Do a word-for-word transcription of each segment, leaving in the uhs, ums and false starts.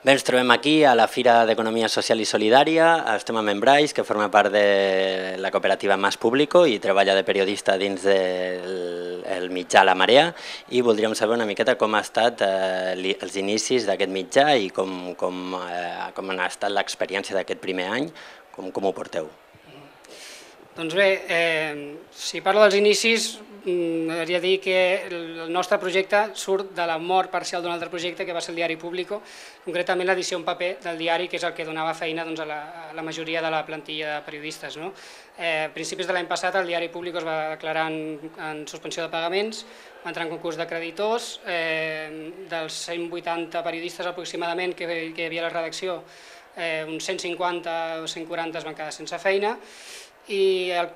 Bé, ens trobem aquí a la Fira d'Economia Social i Solidària. Estem amb en Brais, que forma part de la cooperativa Mas Público i treballa de periodista dins del mitjà La Marea, i voldríem saber una miqueta com ha estat eh, els inicis d'aquest mitjà i com, com, eh, com ha estat l'experiència d'aquest primer any, com, com ho porteu. Doncs bé, eh, si parlo dels inicis, m'agradaria dir que el nostre projecte surt de la mort parcial d'un altre projecte que va ser el Diari Público, concretament l'edició en paper del diari, que és el que donava feina doncs, a, la, a la majoria de la plantilla de periodistes. No? Eh, a principis de l'any passat el Diari Público es va declarar en, en suspensió de pagaments, va entrar en concurs de creditors, eh, dels cent vuitanta periodistes aproximadament que, que hi havia a la redacció, eh, uns cent cinquanta o cent quaranta es van quedar sense feina, i el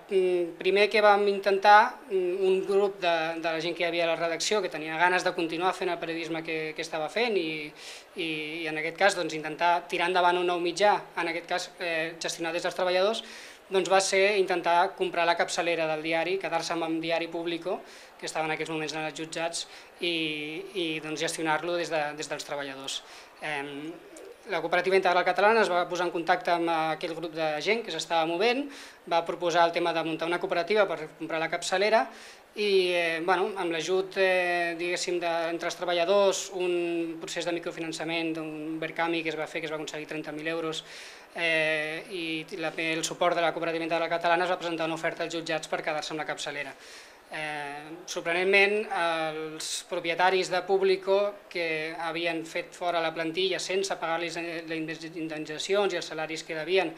primer que vam intentar, un grup de, de la gent que hi havia a la redacció que tenia ganes de continuar fent el periodisme que, que estava fent i, i, i en aquest cas doncs, intentar tirar endavant un nou mitjà, en aquest cas eh, gestionat des dels treballadors, doncs va ser intentar comprar la capçalera del diari, quedar-se amb el Diari Público, que estava en aquests moments en els jutjats, i, i doncs, gestionar-lo des, de, des dels treballadors. Eh, La Cooperativa Integral Catalana es va posar en contacte amb aquell grup de gent que s'estava movent, va proposar el tema de muntar una cooperativa per comprar la capçalera i eh, bueno, amb l'ajut eh, diguéssim entre els treballadors, un procés de microfinançament d'un Berkami que es va fer, que es va aconseguir trenta mil euros, eh, i la, el suport de la Cooperativa Integral Catalana es va presentar una oferta als jutjats per quedar-se amb la capçalera. Eh, sorprenentment, els propietaris de Público que havien fet fora la plantilla sense pagar-los les indemnitzacions i els salaris que devien,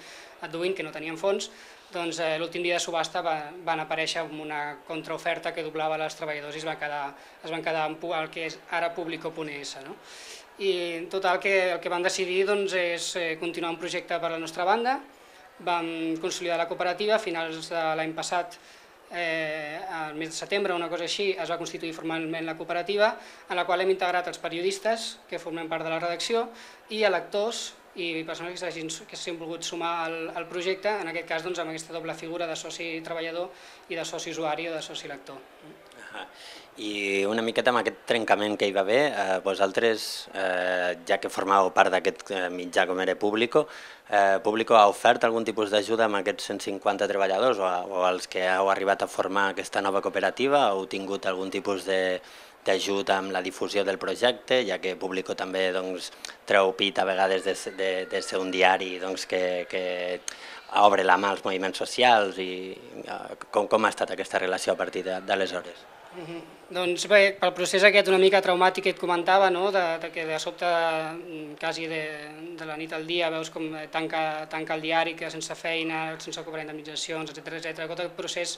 adduint que no tenien fons, doncs eh, l'últim dia de subhasta va, van aparèixer amb una contraoferta que doblava els treballadors i es van quedar, es van quedar amb el que és ara Público punt es. No? I en total que, el que vam decidir doncs, és continuar un projecte per la nostra banda, vam consolidar la cooperativa, a finals de l'any passat, Eh, al mes de setembre, una cosa així, es va constituir formalment la cooperativa, en la qual hem integrat els periodistes que formem part de la redacció i lectors i persones que s'hagin volgut sumar al, al projecte, en aquest cas doncs, amb aquesta doble figura de soci treballador i de soci usuari o de soci lector. I una miqueta amb aquest trencament que hi va haver, eh, vosaltres, eh, ja que formàveu part d'aquest mitjà com era Público, eh, Público ha ofert algun tipus d'ajuda amb aquests cent cinquanta treballadors o, o als que heu arribat a formar aquesta nova cooperativa? Heu tingut algun tipus d'ajut amb la difusió del projecte, ja que Público també doncs, treu pit a vegades de, de, de ser un diari doncs, que, que obre la mà als moviments socials i eh, com, com ha estat aquesta relació a partir d'aleshores? Uh-huh. Doncs bé, pel procés aquest una mica traumàtic que et comentava, no? de, de que de sobte, quasi de, de la nit al dia, veus com tanca, tanca el diari, que sense feina, sense cobrar indemnitzacions, etcètera, etcètera. Tot el procés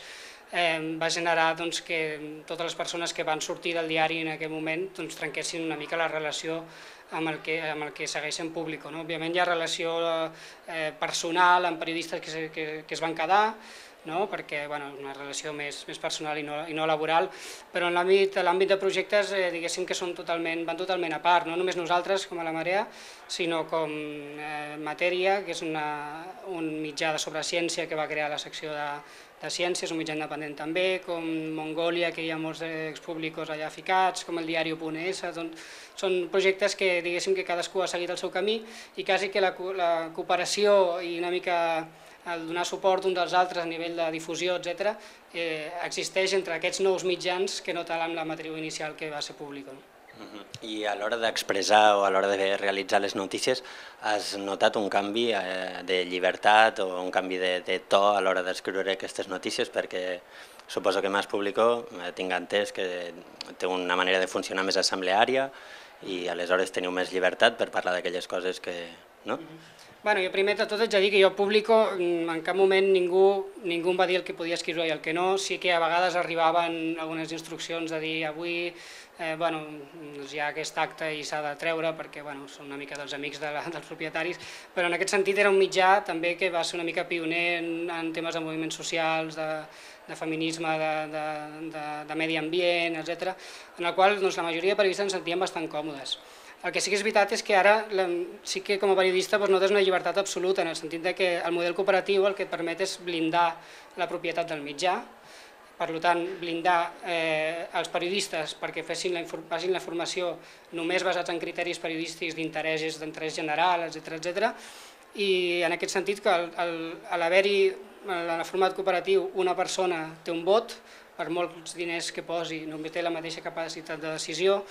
eh, va generar doncs, que totes les persones que van sortir del diari en aquell moment doncs, trenquessin una mica la relació amb el que, amb el que segueixen Público. No? Òbviament hi ha relació eh, personal amb periodistes que, que, que es van quedar, no? Perquè bueno, és una relació més, més personal i no, i no laboral, però en l'àmbit de projectes eh, diguéssim que són totalment, van totalment a part, no només nosaltres com a La Marea, sinó com eh, Matèria, que és una, un mitjà de sobre ciència que va crear la secció de, de ciències, un mitjà independent també, com Mongolia, que hi ha molts expúblicos allà ficats, com el diari punt es, doncs, són projectes que diguéssim que cadascú ha seguit el seu camí i quasi que la, la cooperació i una mica el donar suport un dels altres a nivell de difusió, etcètera, eh, existeix entre aquests nous mitjans que no tal amb la matriu inicial que va ser Público. Uh-huh. I a l'hora d'expressar o a l'hora de realitzar les notícies has notat un canvi eh, de llibertat o un canvi de, de to a l'hora d'escriure aquestes notícies? Perquè suposo que Mas Público, eh, tinc entès que té una manera de funcionar més assembleària i aleshores teniu més llibertat per parlar d'aquelles coses que... no? Uh-huh. Bueno, jo primer de tot haig de dir que jo Público en cap moment ningú, ningú em va dir el que podia escriure i el que no, sí que a vegades arribaven algunes instruccions de dir avui eh, bueno, doncs hi ha aquest acte i s'ha de treure perquè bueno, són una mica dels amics de la, dels propietaris, però en aquest sentit era un mitjà també que va ser una mica pioner en, en temes de moviments socials, de, de feminisme, de, de, de, de medi ambient, etcètera, en el qual doncs, la majoria de periodistes ens sentíem bastant còmodes. El que sí que és veritat és que ara sí que com a periodista no tens una llibertat absoluta, en el sentit que el model cooperatiu el que et permet és blindar la propietat del mitjà, Per tant, blindar eh, els periodistes perquè fessin la, facin la formació només basats en criteris periodístics d'interès d'interès general, etcètera, etcètera. I en aquest sentit, que a l'haver-hi en el format cooperatiu una persona té un vot, per molts diners que posi només té la mateixa capacitat de decisió,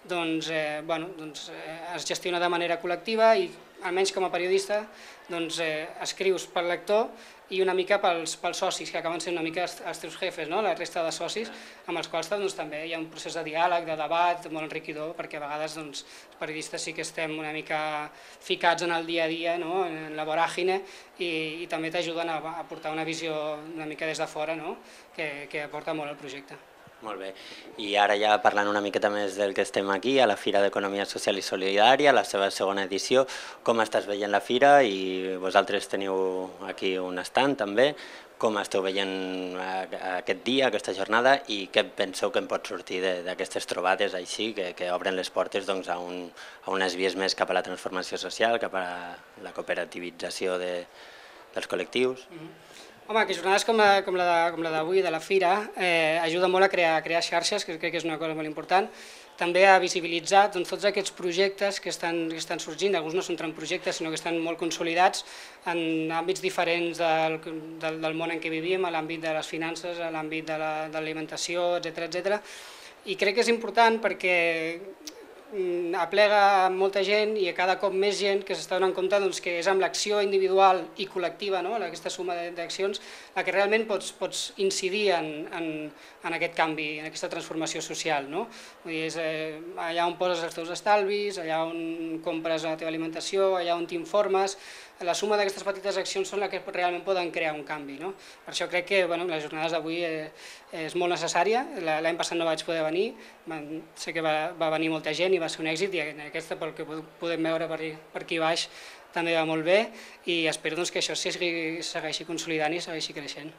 doncs, eh, bueno, doncs, eh, es gestiona de manera col·lectiva i almenys com a periodista doncs, eh, escrius pel lector i una mica pels, pels socis, que acaben sent una mica els, els teus jefes, no? La resta de socis, amb els quals doncs, també hi ha un procés de diàleg, de debat molt enriquidor, perquè a vegades doncs, els periodistes sí que estem una mica ficats en el dia a dia, no? En la voràgine, i, i també t'ajuden a, a portar una visió una mica des de fora, no? que, que aporta molt al projecte. Molt bé. I ara ja parlant una miqueta més del que estem aquí, a la Fira d'Economia Social i Solidària, la seva segona edició, com estàs veient la Fira? I vosaltres teniu aquí un stand també. Com esteu veient aquest dia, aquesta jornada, i què penseu que en pot sortir d'aquestes trobades així, que, que obren les portes doncs, a, un, a unes vies més cap a la transformació social, cap a la cooperativització de, dels col·lectius? Mm-hmm. Home, que jornades com la, com la d'avui, de la Fira, eh, ajuda molt a crear, a crear xarxes, que crec que és una cosa molt important, també a visibilitzar doncs, tots aquests projectes que estan, que estan sorgint. Alguns no són tant projectes, sinó que estan molt consolidats en àmbits diferents del, del, del món en què vivim, a l'àmbit de les finances, a l'àmbit de l'alimentació, etcètera, etcètera. I crec que és important perquè aplega molta gent i a cada cop més gent que s'està donant compte doncs, que és amb l'acció individual i col·lectiva, no? Aquesta suma d'accions, la que realment pots, pots incidir en, en, en aquest canvi, en aquesta transformació social. No? Vull dir, és, eh, allà on poses els teus estalvis, allà on compres la teva alimentació, allà on t'informes, la suma d'aquestes petites accions són les que realment poden crear un canvi. No? Per això crec que bueno, les jornades d'avui eh, és molt necessària. L'any passat no vaig poder venir, sé que va, va venir molta gent i va ser un èxit, i en aquesta, pel que podem veure per, per aquí baix, també va molt bé, i espero doncs, que això segueixi, segueixi consolidant i segueixi creixent.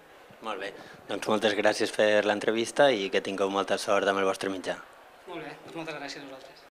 Molt bé, doncs moltes gràcies per l'entrevista i que tingueu molta sort amb el vostre mitjà. Molt bé, doncs moltes gràcies a vosaltres.